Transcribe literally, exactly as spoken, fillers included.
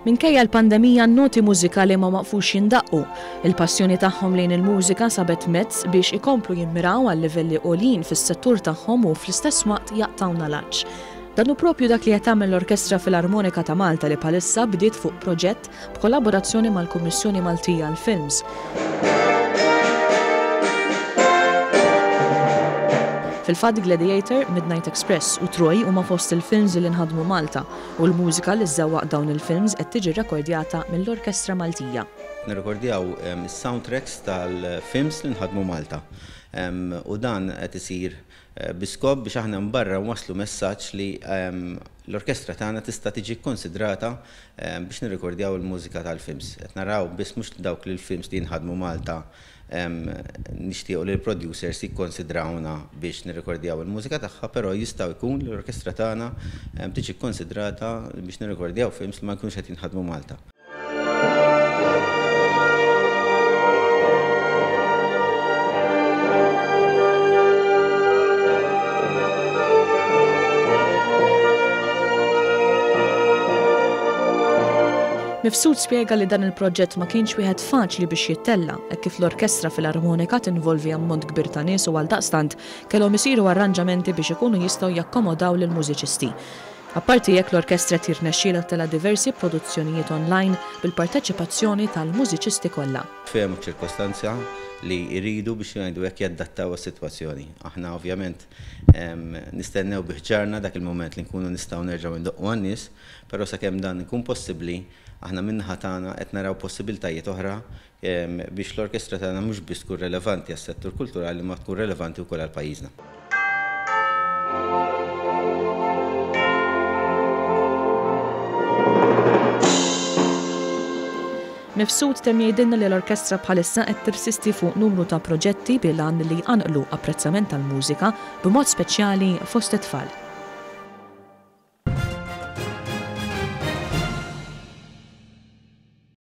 Minkejja l-pandemija, n-noti mużikali ma waqfux jindaqqu. Il-passjoni tagħhom lejn il-mużika sabet mezz biex ikomplu jimmiraw għal livelli għoljin fis-settur tagħhom u fl-istess waqt jaqtgħuna l-għatx. Dan hu propju dak li qed tagħmel l-Orkestra Filarmonika ta' Malta, li bħalissa bdiet fuq proġett b'kollaborazzjoni mal-Kummissjoni Maltija għall-Films. Fil-fatt, Gladiator, Midnight Express u Troy huma fost il-films li nħadmu Malta u l-mużika li żżewwaq dawn il-films qed tiġi rekordjata mill-Orkestra Maltija. Nirrekordjaw is-soundtracks tal-films li nħadmu Malta. U dan qed isir eh, bi skop biex aħna barra waslu messaġġ li l-orkestra tagħna tista' tiġi konsidrata biex nirrekordjaw il-mużika tal-films. Qed naraw biss mhux dawk li l-films li nħadmu Malta nixtiequ li l-producers jikkonsidrawna biex nirrekordjaw il-mużika tagħha, però jistgħu jkun li l-orkestra tagħna tiġi konsidrata biex nirrekordjaw films li ma jkunux qed jinħadmu Malta. Mifsud spjega li dan il-proġett ma kienx wieħed faċli biex jittella, hekk kif l-Orkestra Filarmonika tinvolvi ammont kbir ta' nies u għaldaqstant kellhom isiru arranġamenti biex ikunu jistgħu jakkomodaw lill-mużiċisti. Apparti hekk, l-orkestra tirnexxielha ttella' diversi produzzjonijiet online bil-parteċipazzjoni tal-mużiċisti kollha. Fehmu ċirkostanza li jridu biex jgħidu hekk jaddattaw is-sitwazzjoni. Aħna ovvjament nistennew bi ħġarna dak il-moment li nkunu nistgħu nerġgħu ndoqqu għan-nies, però sakemm dan ikun possibbli, aħna min-naħa tagħna qed naraw possibiltajiet oħra biex l-orkestra tagħna mhux biss tkun relevanti għas-settur kulturali ma tkun relevanti wkoll għal pajjiżna. Mifsud temm jgħidilna li l-orkestra bħalissa qed tirsisti fuq numru ta' proġetti bil-għan li jqanqlu apprezzament tal-mużika b'mod speċjali fost it-tfal.